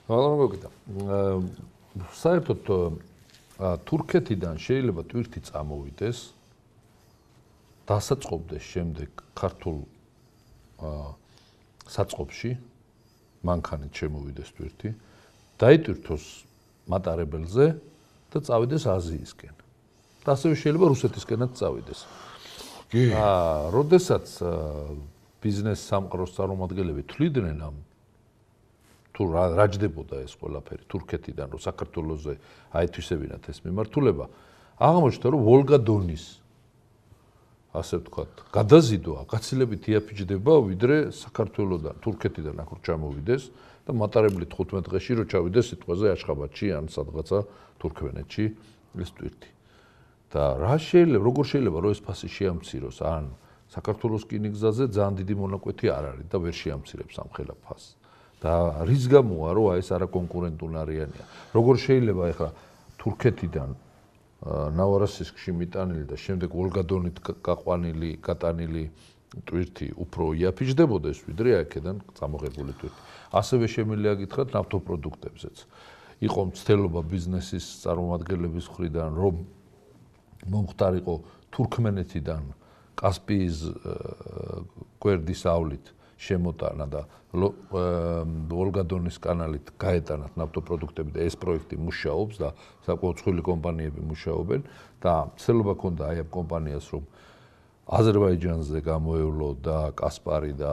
S1: მაგრამ მოგიტა. საერთოდ თურქეთიდან შეიძლება ტვირთი წამოვიდეს დასაწყობდეს შემდეგ ქართულ საწყობში მანქანით შემოვიდეს ტვირთი დაიტვირთოს მატარებელზე და წავიდეს აზიისკენ. და ასევე შეიძლება რუსეთისკენაც წავიდეს.
S2: კი.
S1: აა, როდესაც ბიზნეს სამყაროს წარმომადგენლები თვლიდნენ ამ თუ რა ჯდებოდა ეს ყველაფერი თურქეთიდან რომ საქართველოზე აეთვისებინათ ეს მიმართულება, აღმოჩნდა რომ ვოლგა-დონის ასე ვთქვათ, გადაზიდვა გაცილებით იაფიჯდება ვიდრე საქართველოსთან, თურქეთიდან აქ ჩამოვიდეს და მატარებლით თხუთმეტ დღეში რო ჩავიდეს სიტყვაზე აშხაბადში ან სადღაცა თურქმენეთში ეს ტვირთი. და რა შეიძლება, როგორ შეიძლება რომ ეს ფასი შეამციროს, ან საქართველოს რკინიგზაზე ძალიან დიდი მონაკვეთი არ არის და ვერ შეამცირებს ამ ხელა ფასს. და რის გამოა რომ ეს არაკონკურენტული არიანია. როგორ შეიძლება ეხლა თურქეთიდან ნავარასისკში მიტანილი და შემდეგ ვოლგა-დონით გაყვანილი, გატანილი ტვირთი უფრო იაფიჯდებოდეს ვიდრე აქედან წამოღებული ტვირთი. ასევე შემიძლია გითხრათ ნავთობპროდუქტებზეც. იყო მცდელობა ბიზნესის წარმომადგენლების მხრიდან რომ მომხდარიყო თურქმენეთიდან კასპიის გვერდის ავლით შემოტანა და ვოლგა-დონის კანალით გაეტანათ ნავთობპროდუქტები და ეს პროექტი მუშაობს და საკმაოდ მსხვილი კომპანიები მუშაობენ და მცდელობა ქონდა აი ამ კომპანიას რომ აზერბაიჯანზე გამოევლო და კასპარი და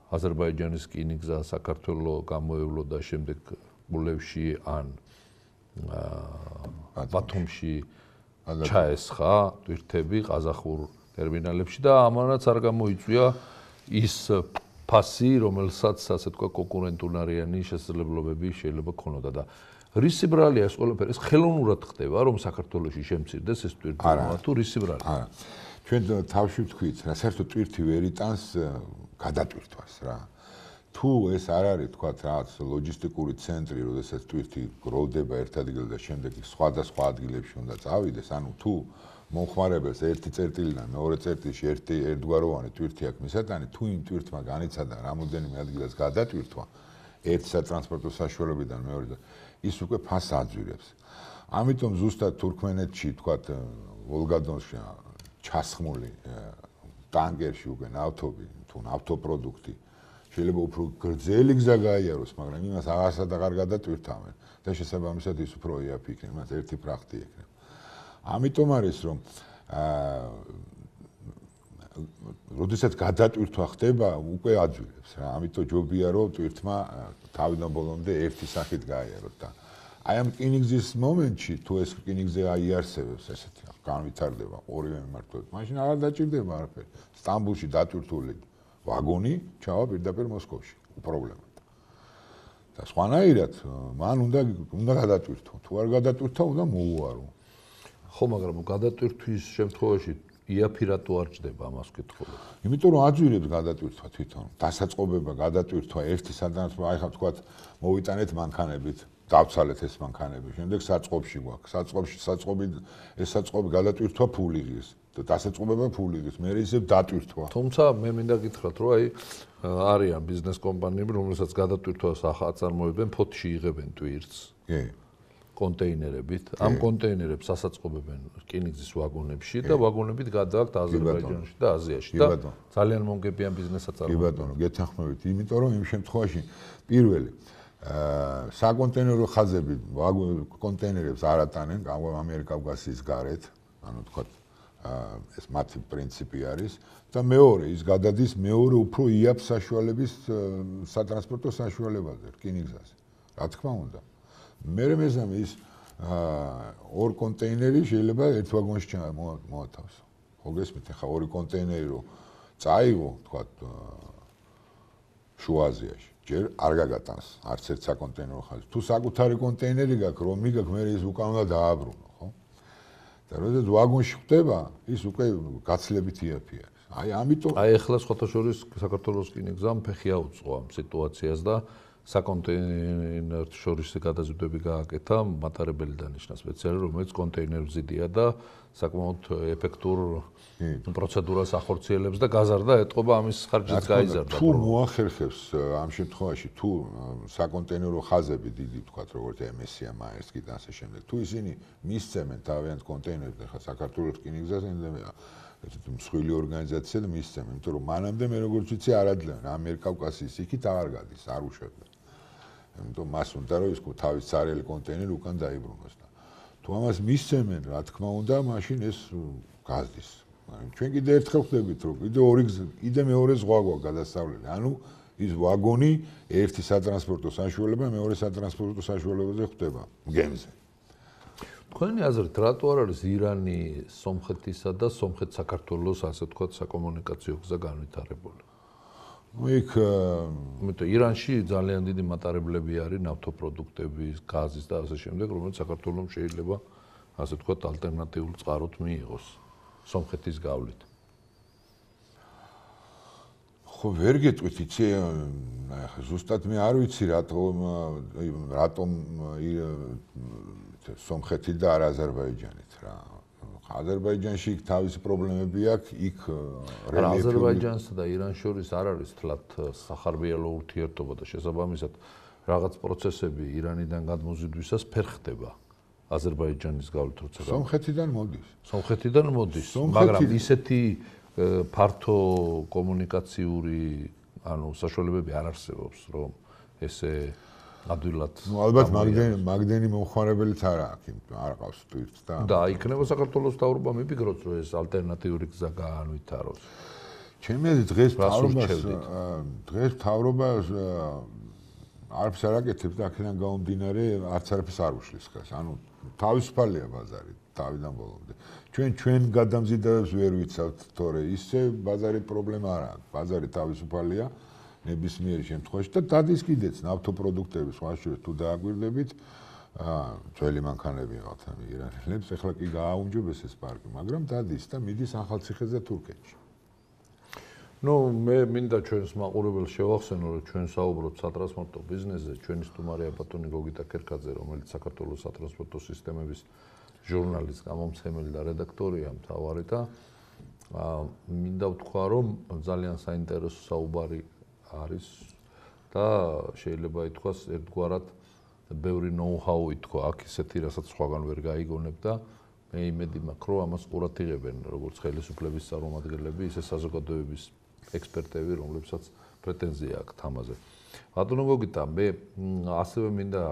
S1: აზერბაიჯანის რკინიგზა საქართველოს გამოევლო და შემდეგ გულევში ან ბათუმში ჩაესხა ტვირთები ყაზახურ ტერმინალებში და ამანაც არ გამოიწვია ის ფასი, რომელსაც ასე თქვა კონკურენტულარიანი შესაძლებლობები შეიძლება ქონოდა და რისი ბრალია ეს ყველაფერი? ეს ხელოვნურად ხდება, რომ საქართველოში შემცირდეს ეს ტვირთი თუ რისი ბრალია?
S2: არა. ჩვენ თავში ვთქვით, რა საერთოდ ტვირთი ვერ იტანს გადატვირთვას რა. თუ ეს არ არის თქვა რაღაც ლოჯისტიკური ცენტრი, როდესაც ტვირთი გროვდება ერთ ადგილზე და შემდეგ სხვადასხვა ადგილებში უნდა წავიდეს, ანუ თუ მომხმარებელს ერთი წერტილიდან მეორე წერტილში ერთი ერთგვაროვანი ტვირთი აქვს მისატანი, თუ იმ ტვირთმა განიცადა რამოდენიმე ადგილას გადატვირთვა ერთი სატრანსპორტო საშუალებიდან მეორეზე, ის უკვე ფასს აძვირებს. ამიტომ ზუსტად თურქმენეთში თქვა ვოლგა-დონში ჩასხმული ტანკერში უკვე ნავთობი თუ ნავთობპროდუქტი შეიძლება უფრო გრძელი გზა გაიაროს, მაგრამ იმას აღარსად აღარ გადატვირთავენ და შესაბამისად ის უფრო იაფი იქნება, მას ერთი ფრახტი ექნება. ამიტომ არის რომ აა როდესაც გადატვირთვა ხდება, უკვე აძვირებს რა. ამიტომ ჯობია რომ ტვირთმა თავიდან ბოლომდე ერთი სახით გაიაროთ და აი ამ რკინიგზის მომენტში თუ ეს რკინიგზე აიარსებებს ესეთი განვითარდება ორივე მიმართულებით, მაშინ არ დაჭირდება არაფერი. სტამბულში დატვირთული ვაგონი ჩავა პირდაპირ მოსკოვში, უპრობლემოდ. და სხვანაირად მან უნდა უნდა გადატვირთო. თუ არ გადატვირთო, უნდა მოუარო.
S1: ხო, მაგრამ გადატვირთვის შემთხვევაში იაფი რატო არ ჭდება ამას ვკითხულობ?
S2: იმიტომ რომ აძვირებს გადატვირთვა თვითონ. დასაწყობება გადატვირთვა ერთი სადღაც აი ხა თქვა მოვიტანეთ მანქანებით, დავცალეთ ეს მანქანები. შემდეგ საწყობში გვაქვს. საწყობში საწყობი ეს საწყობი გადატვირთვა ფული ღირს. დასაწყობება ფული ღირს. მე ისევ დატვირთვა.
S1: თუმცა მე მინდა გითხრათ, რომ აი არიან ბიზნეს კომპანიები, რომელსაც გადატვირთვას აწარმოებენ, ფოთში იღებენ ტვირთს.
S2: კი.
S1: კონტეინერებით. ამ კონტეინერებს ასაწყობებენ რკინიგზის ვაგონებში და ვაგონებით გადააქვთ აზერბაიჯანში და აზიაში და ძალიან მომგებიან ბიზნესსაც
S2: აწარმოებენ. კი ბატონო, გეთანხმებით, იმიტომ რომ იმ შემთხვევაში პირველი აა საკონტეინერო ხაზები კონტეინერებს არ ატანენ ამიერკავკასიის გარეთ, ანუ თქვა ეს მათი პრინციპი არის და მეორე ის გადადის მეორე უფრო იაფ საშუალების სატრანსპორტო საშუალებაზე რკინიგზაზე. რა თქმა უნდა. მე მეზამე ის ორ კონტეინერი შეიძლება ერთ ვაგონში მოათავსო. ხო გესმით, ახლა ორი კონტეინერი რო წაიღო, თქვა შუა აზიაში. ჯერ არ გაგატანს არც ერთ საკონტეინერო ხაზი. თუ საკუთარი კონტეინერი გაქვს, რომ მიგაქვს, მე ის უკან უნდა დააბრუნო, ხო? და როდესაც ვაგონში ხდება, ის უკვე გაცლებით იაფი არის. აი ამიტომ
S1: აი ახლა სხვათა შორის საქართველოს რკინიგზამ ფეხი აუწყო ამ სიტუაციას და საკონტეინერ შორის გადაზიდვები გააკეთა მატარებელი დანიშნა სპეციალურად, რომელიც კონტეინერზიდია და საკმაოდ ეფექტურ პროცედურას ახორციელებს და გაზარდა ეტყობა ამის ხარჯიც გაიზარდა.
S2: თუ მოახერხებს ამ შემთხვევაში თუ საკონტეინერო ხაზები დიდი თქვათ როგორც ემესია, მაერსკი და ასე შემდეგ, თუ ისინი მისცემენ თავიანთ კონტეინერებს, ახლა საქართველოს რკინიგზაზე ინდემია ესეთი მსხვილი ორგანიზაცია და მისცემენ, იმიტომ რომ მანამდე მე როგორც ვიცი არ აძლევენ ამიერკავკასიის იქით აღარ გადის, არ უშვებენ. იმიტომ მას უნდა რომ ის თავის царელი კონტეინერი უკან დაიბრუნოს და თუ ამას მისცემენ, რა თქმა უნდა, მაშინ ეს გაზდის. ჩვენ კიდე ერთხელ ხვდებით, რომ კიდე ორი კიდე მეორე ზღვა გვაქვს გადასავლელი. ანუ ის ვაგონი ერთი სატრანსპორტო საშუალება მეორე სატრანსპორტო საშუალებაზე ხდება გემზე.
S1: თქვენი აზრით, რატო არ არის ირანი სომხეთისა და სომხეთ საქართველოს ასე ვთქვათ საკომუნიკაციო გზა განვითარებული?
S2: იქ
S1: იმიტომ ირანში ძალიან დიდი მატარებლები არის ნავთობპროდუქტების, გაზის და ასე შემდეგ, რომელიც საქართველოს შეიძლება ასე ვთქვათ ალტერნატიულ წყაროთ მიიღოს სომხეთის გავლით.
S2: ხო, ვერ გეტყვით, იცი, ზუსტად მე არ ვიცი რატომ რატომ სომხეთი და არა აზერბაიჯანით რა. აზერბაიჯანში იქ თავისი პრობლემები აქვს, იქ
S1: რელიეფი აზერბაიჯანსა და ირანს შორის არ არის თლათ სახარბიელო ურთიერთობა და შესაბამისად რაღაც პროცესები ირანიდან გადმოზიდვისას ფერ ხდება აზერბაიჯანის გავლით როცა
S2: სომხეთიდან მოდის.
S1: სომხეთიდან მოდის, მაგრამ ისეთი ფართო კომუნიკაციური ანუ საშუალებები არ არსებობს, რომ ესე ადვილად.
S2: ნუ ალბათ მაგდენი მაგდენი მომხმარებელიც არ აქვს, არ ყავს ტვირთს და
S1: და იქნება საქართველოს თავრობა მიფიქროთ, რომ ეს ალტერნატიული გზა გაანვითაროს.
S2: ჩემი აზრით დღეს თავრობას დღეს თავრობას არც არ აკეთებს და აქედან გამომდინარე არც არაფერს არ უშლის ხას. ანუ თავისუფალია ბაზარი თავიდან ბოლომდე. ჩვენ ჩვენ გადამზიდავებს ვერ ვიცავთ, თორე ისე ბაზარი პრობლემა არ აქვს. ბაზარი თავისუფალია. ნებისმიერ შემთხვევაში და დადის კიდეც ნავთობპროდუქტები სხვა შორის თუ დააგვირდებით აა ძველი მანქანები ყავთ ამ ირანელებს ეხლა კი გააუმჯობეს ეს პარკი მაგრამ დადის და მიდის ახალციხეზე და თურქეთში.
S1: ნუ მე მინდა ჩვენს მაყურებელს შევახსენო რომ ჩვენ საუბრობთ სატრანსპორტო ბიზნესზე ჩვენი სტუმარია ბატონი გოგიტა ქერქაძე რომელიც საქართველოს სატრანსპორტო სისტემების ჟურნალის გამომცემელი და რედაქტორია მთავარი და აა მინდა ვთქვა რომ ძალიან საინტერესო საუბარი არის და შეიძლება ითქვას ერთგვარად ბევრი ნოუ-ჰაუ ითქვა აქ ისეთი რასაც სხვაგან ვერ გაიგონებ და მე იმედი მაქვს, რომ ამას ყურად იღებენ როგორც ხელისუფლების წარმომადგენლები, ისე საზოგადოების ექსპერტები, რომლებსაც პრეტენზია აქვს ამაზე. ბატონო გოგიტა, მე ასევე მინდა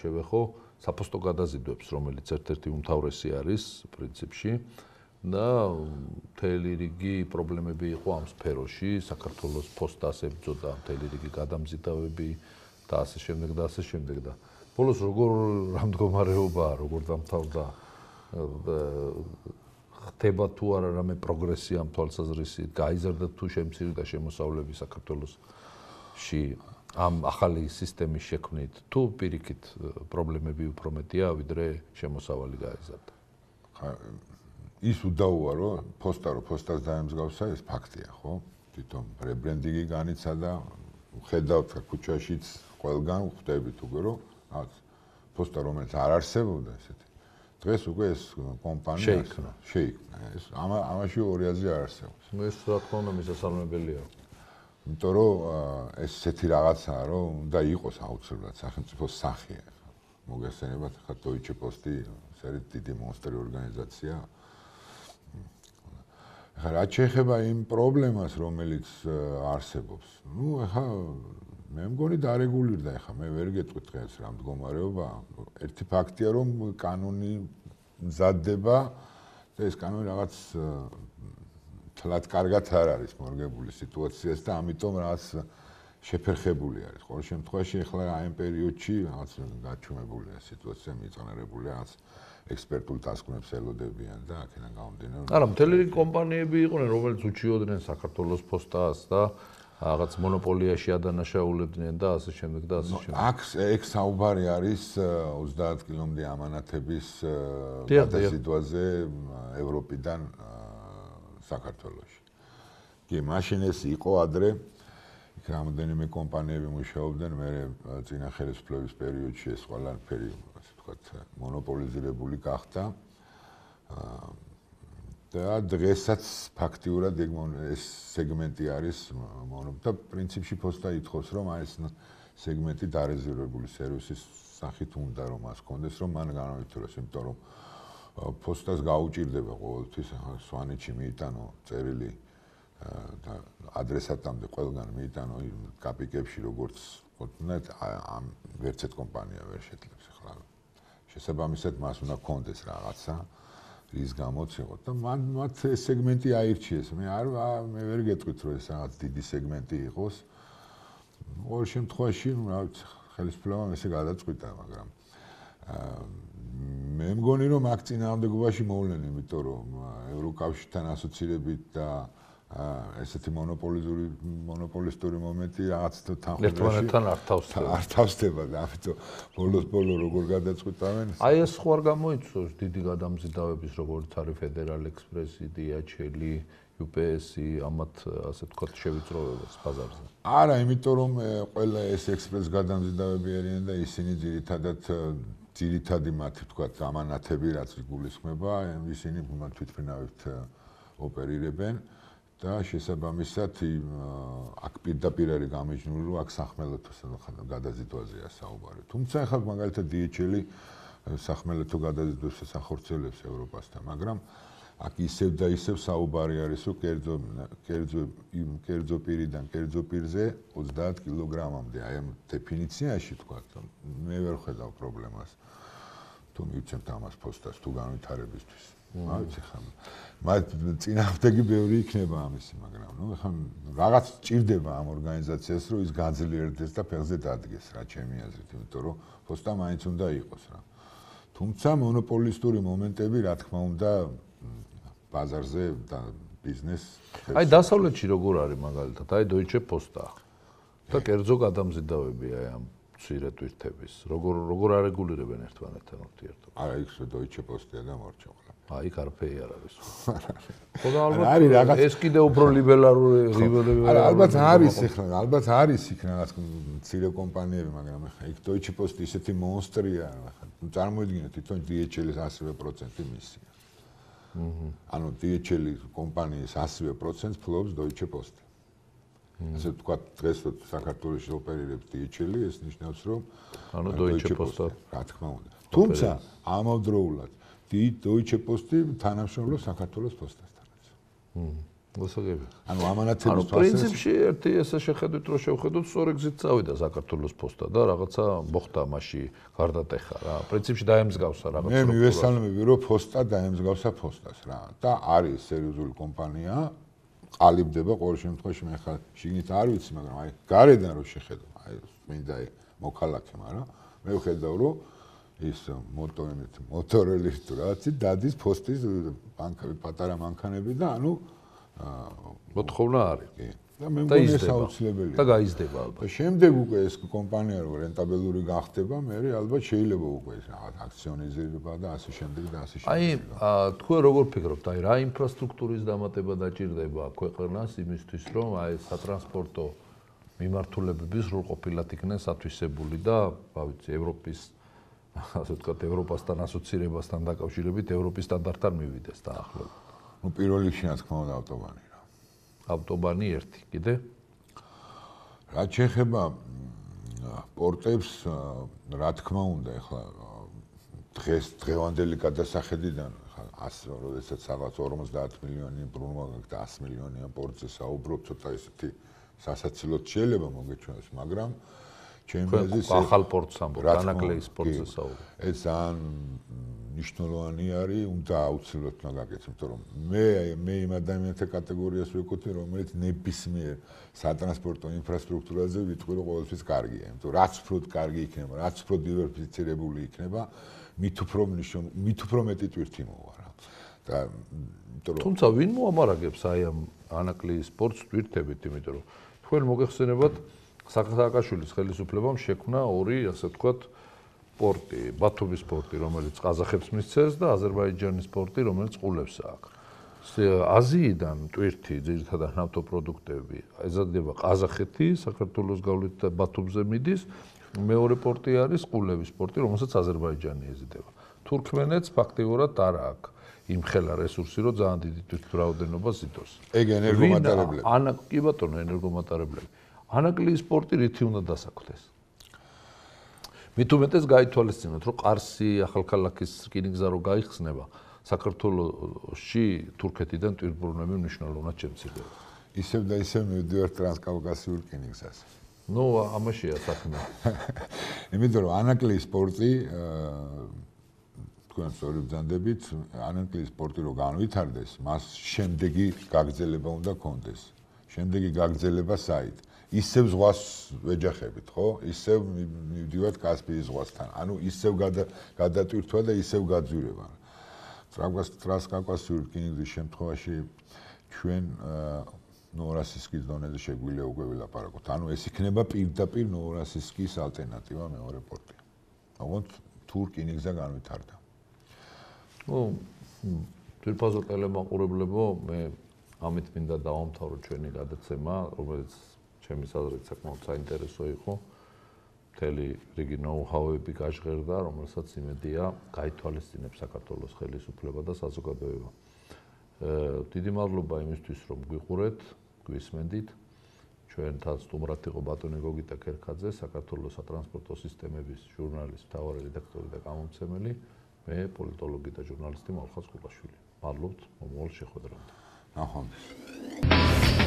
S1: შევეხო საფოსტო გადაზიდვებს, რომელიც ერთ-ერთი უმთავრესი არის პრინციპში და მთელი რიგი პრობლემები იყო ამ სფეროში, საქართველოს ფოსტას ებრძოდა მთელი რიგი გადამზიდავები და ასე შემდეგ და ასე შემდეგ და ბოლოს როგორ რამდგომარეობაა, როგორ დამთავრდა ხდება თუ არა რამე პროგრესია ამ თვალსაზრისით, გაიზარდა თუ შემცირდა შემოსავლები საქართველოსში ამ ახალი სისტემის შექმნით, თუ პირიქით პრობლემები უფრო მეტია, ვიდრე შემოსავალი გაიზარდა.
S2: ის უდაოა, რომ ფოსტა რო ფოსტას დაემსგავსა, ეს ფაქტია, ხო? თვითონ რებრენდინგი განიცადა, ხედავთ ქუჩაშიც ყველგან ხვდებით უკვე, რომ რაღაც ფოსტა რომელიც არ არსებობდა ესეთი. დღეს უკვე ეს კომპანია
S1: შეიქმნა.
S2: შეიქმნა. ეს ამა ამაში ორი აზრი არ არსებობს.
S1: ეს რა თქმა უნდა მისასალმებელია.
S2: იმიტომ რომ ეს ესეთი რაღაცაა, რომ უნდა იყოს აუცილებლად სახელმწიფოს სახე. მოგესწრებათ, ხა Deutsche Post-ი, ეს არის დიდი მონსტერი ორგანიზაცია. ხა რა შეეხება იმ პრობლემას, რომელიც არსებობს. ნუ ხა მე მგონი დარეგულირდა, ხა მე ვერ გეტყვი დღეს რა მდგომარეობა. ერთი ფაქტია, რომ კანონი მზადდება და ეს კანონი რაღაც თლად კარგად არ არის მორგებული სიტუაციას და ამიტომ რაღაც შეფერხებული არის. ყოველ შემთხვევაში ახლა აი ამ პერიოდში რაღაც გაჩვენებულია სიტუაცია, მიწონერებული რაღაც ექსპერტულ დასკვნებს ელოდებიან და აქედან გამომდინარე.
S1: არა, მთელი რიგი კომპანიები იყვნენ, რომელიც უჩიოდნენ საქართველოს ფოსტას და რაღაც მონოპოლიაში ადანაშაულებდნენ და ასე შემდეგ და ასე შემდეგ.
S2: აქ ეგ საუბარი არის ოცდაათ კილომდე ამანათების გადაზიდვაზე ევროპიდან საქართველოში. კი, მაშინ ეს იყო ადრე, იქ რამდენიმე კომპანიები მუშაობდნენ, მე წინა ხელისუფლების პერიოდში ეს ყველაფერი, ასე ვთქვათ, მონოპოლიზირებული გახდა. და დღესაც ფაქტიურად ეს სეგმენტი არის და პრინციპში ფოსტა ითხოვს, რომ აი ეს სეგმენტი დარეზერვებული სერვისის სახით უნდა რომ მას კონდეს, რომ მან განავითაროს, იმიტომ რომ ფოსტას გაუჭირდება ყოველთვის სვანეთში მიიტანო წერილი და ადრესატამდე ყველგან მიიტანო კაპიკებში, როგორც ვთქვათ, ამ ვერც ერთ კომპანია ვერ შეძლებს ახლა. შესაბამისად მას უნდა კონდეს რაღაცა რის გამოც იყო და მან მათ ეს სეგმენტი აირჩიეს. მე არ მე ვერ გეტყვით, რომ ეს რაღაც დიდი სეგმენტი იყოს. ყოველ შემთხვევაში, რა ვიცი, ხელისუფლებამ ესე გადაწყვიტა, მაგრამ მე მგონი, რომ აქ წინააღმდეგობაში მოვლენ, იმიტომ რომ ევროკავშირთან ასოცირებით და ესეთი მონოპოლიზური მონოპოლისტური მომენტი რაღაც თანხმობაში არ თავსდება და ამიტომ ბოლოს-ბოლო როგორ გადაწყვიტავენ.
S1: აი ეს ხო არ გამოიწვევს დიდი გადამზიდავების, როგორც არის Federal Express-ი, D H L-ი, U P S-ი, ამათ ასე ვთქვათ შევიწროვებას ბაზარზე.
S2: არა, იმიტომ რომ ყველა ეს ექსპრეს გადამზიდავები არიან და ისინი ძირითადად ძირითადი მათი ვთქვათ ამანათები, რაც გულისხმება, ისინი თვითმფრინავით ოპერირებენ. და შესაბამისად აქ პირდაპირ არის გამიჯნული, რომ აქ სახმელეთო გადაზიდვაზეა საუბარი. თუმცა ახლა მაგალითად D H L-ი სახმელეთო გადაზიდვას ახორციელებს ევროპასთან, მაგრამ აქ ისევ და ისევ საუბარი არის, რომ კერძო კერძო კერძო პირიდან კერძო პირზე ოცდაათ კილოგრამამდე. აი ამ დეფინიციაში თქვა, მე ვერ ხედავ პრობლემას. თუ მივცემთ ამას ფოსტას თუ განვითარებისთვის. ვიცი ხომ მათ წინააღმდეგი ბევრი იქნება ამისი, მაგრამ ნუ ხომ რაღაც ჭირდება ამ ორგანიზაციას, რომ ის გაძლიერდეს და ფეხზე დადგეს რა ჩემი აზრით, იმიტომ რომ ფოსტა მაინც უნდა იყოს რა. თუმცა მონოპოლისტური მომენტები, რა თქმა უნდა, ბაზარზე და ბიზნეს
S1: აი დასავლეთში როგორ არის მაგალითად, აი Deutsche Post-ა და კერძო გადამზიდავები აი ამ მცირე ტვირთების, როგორ როგორ არეგულირებენ ერთმანეთთან ურთიერთობას?
S2: არა, იქ Deutsche Post-ია და მორჩა.
S1: აი, კარფეი არ არის. ხო და ალბათ ეს კიდე უფრო ლიბერალური ლიბერალური.
S2: არა, ალბათ არის ახლა, ალბათ არის იქ რაღაც მცირე კომპანიები, მაგრამ ახლა იქ Deutsche Post ისეთი მონსტრია, ახლა წარმოიდგინეთ თვითონ D H L-ის ასივე პროცენტი მისია. აჰა. ანუ D H L-ის კომპანიის ასივე პროცენტს ფლობს Deutsche Post. ასე ვთქვათ, დღეს საქართველოში ოპერირებს D H L-ი, ეს ნიშნავს, რომ
S1: ანუ Deutsche Post-ა
S2: რა თქმა უნდა. თუმცა ამავდროულად Deutsche Post-ი თანამშრომლობს საქართველოს პოსტასთანაც.
S1: მმ. გასაგები.
S2: ანუ ამანათების
S1: თვალსაზრისით პრინციპში ერთი ესე შეხედვით რომ შევხედოთ, სწორი გზით წავიდა საქართველოს პოსტა და რაღაცა მოხდა მასში გარდატეხა რა. პრინციპში დაემსგავსა რაღაც.
S2: მე მივესალმები რომ პოსტა დაემსგავსა პოსტას რა. და არის სერიოზული კომპანია, ყალიბდება ყოველ შემთხვევაში მე ხა შიგნით არ ვიცი, მაგრამ აი გარედან რო შეხედო, აი მინდა მოქალაქე, მაგრამ მე ვხედავ რომ ის მოტორებით, მოტორელის თუ რაღაცი დადის პოსტის ბანკები, პატარა მანქანები და ანუ
S1: მოთხოვნა არის.
S2: და მე მგონი ეს აუცილებელია.
S1: და გაიზრდება ალბათ.
S2: და შემდეგ უკვე ეს კომპანია რო რენტაბელური გახდება, მე ალბათ შეიძლება უკვე ეს რაღაც აქციონიზება და ასე შემდეგ და ასე შემდეგ.
S1: აი, თქვენ როგორ ფიქრობთ, აი რა ინფრასტრუქტურის დამატება დაჭირდება ქვეყანას იმისთვის, რომ აი სატრანსპორტო მიმართულებები სრულყოფილად იქნეს ათვისებული და, რა ვიცი, ევროპის ასე ვთქვათ, ევროპასთან ასოცირებასთან დაკავშირებით ევროპის სტანდარტთან მივიდეს დაახლოებით.
S2: ну პირველ რიგში რა თქმა უნდა ავტობანი რა.
S1: ავტობანი ერთი, კიდე?
S2: რაც შეეხება პორტებს, რა თქმა უნდა, ეხლა დღეს დღევანდელი გადასახედიდან, ეხლა როდესაც რაღაც ორმოცდაათ მილიონი ბრუნვა გაქვს და ასი მილიონიან პორტზე საუბრობ, ცოტა ისეთი სასაცილოდ შეიძლება მოგეჩვენოს, მაგრამ ჩემი აზრით
S1: ახალ პორტს ამბობ, დანაკლეის პორტზე საუბრობ.
S2: ეს ძალიან ნიშნულოვანი არის, უნდა აუცილებლად უნდა გაკეთდეს, იმიტომ რომ მე მე იმ ადამიანთა კატეგორიას ვეკუთვნი, რომელიც ნებისმიერ სატრანსპორტო ინფრასტრუქტურაზე ვიტყვი, რომ ყოველთვის კარგია, იმიტომ რომ რაც უფრო კარგი იქნება, რაც უფრო დივერსიფიცირებული იქნება, მით უფრო მით უფრო მეტი ტვირთი მოვა რა. და იმიტომ რომ
S1: თუმცა ვინ მოამარაგებს აი ამ ანაკლიის პორტს ტვირთებით, იმიტომ რომ თქვენ მოგეხსენებათ სააკაშვილის ხელისუფლებამ შექმნა ორი, ასე ვთქვათ, პორტი, ბათუმის პორტი, რომელიც ყაზახებს მისცეს და აზერბაიჯანის პორტი, რომელიც ყულებს აქვს. აზიიდან ტვირთი, ძირითადად ნავთობპროდუქტები, ეზადდება ყაზახეთი, საქართველოს გავლით და ბათუმზე მიდის. მეორე პორტი არის ყულების პორტი, რომელსაც აზერბაიჯანი ეზიდება. თურქმენეთს ფაქტიურად არ აქვს იმხელა რესურსი, რომ ძალიან დიდი თვითმფრინავდება ზიდოს.
S2: ეგ ენერგომატარებლები.
S1: ანა კი ბატონო, ენერგომატარებლები. ანაკლიის პორტი რითი უნდა დასაქმდეს? მით უმეტეს გაითვალისწინოთ, რომ ყარსი ახალქალაქის რკინიგზა რო გაიხსნება, საქართველოში თურქეთიდან ტვირთბრუნები მნიშვნელოვნად შემცირდება.
S2: ისევ და ისევ მივდივართ ტრანსკავკასიურ რკინიგზაზე.
S1: ნუ ამაშია საქმე.
S2: იმიტომ რომ ანაკლიის პორტი თქვენ სწორი ბრძანდებით, ანაკლიის პორტი რო განვითარდეს, მას შემდეგი გაგრძელება უნდა კონდეს. შემდეგი გაგრძელება საით? ისევ ზღვას ვეჯახებით, ხო? ისევ მივდივართ კასპიის ზღვასთან. ანუ ისევ გადატვირთვა და ისევ გაძვირება. ტრანსკავკასიური რკინიგზის შემთხვევაში ჩვენ ნოვოროსიისკის დონეზე შეგვიძლია უკვე ვილაპარაკოთ. ანუ ეს იქნება პირდაპირ ნოვოროსიისკის ალტერნატივა მეორე პორტი. ოღონდ თუ რკინიგზა განვითარდა.
S1: ნუ თვითფაზო ტელემაყურებლებო, მე ამით მინდა დავამთავრო ჩვენი გადაცემა, რომელიც ჩემის აზრით საკმაოდ საინტერესო იყო. მთელი რიგი ნოუ-ჰაუები გაჟღერდა, რომელსაც იმედია გაითვალისწინებს საქართველოს ხელისუფლება და საზოგადოება. დიდი მადლობა იმისთვის, რომ გვიყურეთ, გვისმენდით. ჩვენთან სტუმრად იყო ბატონი გოგიტა ქერქაძე, საქართველოს სატრანსპორტო სისტემების ჟურნალის მთავარი რედაქტორი და გამომცემელი, მე პოლიტოლოგი და ჟურნალისტი მალხაზ კუპაშვილი. მადლობთ მომავალ შეხვედრამდე.
S2: ნახვამდის.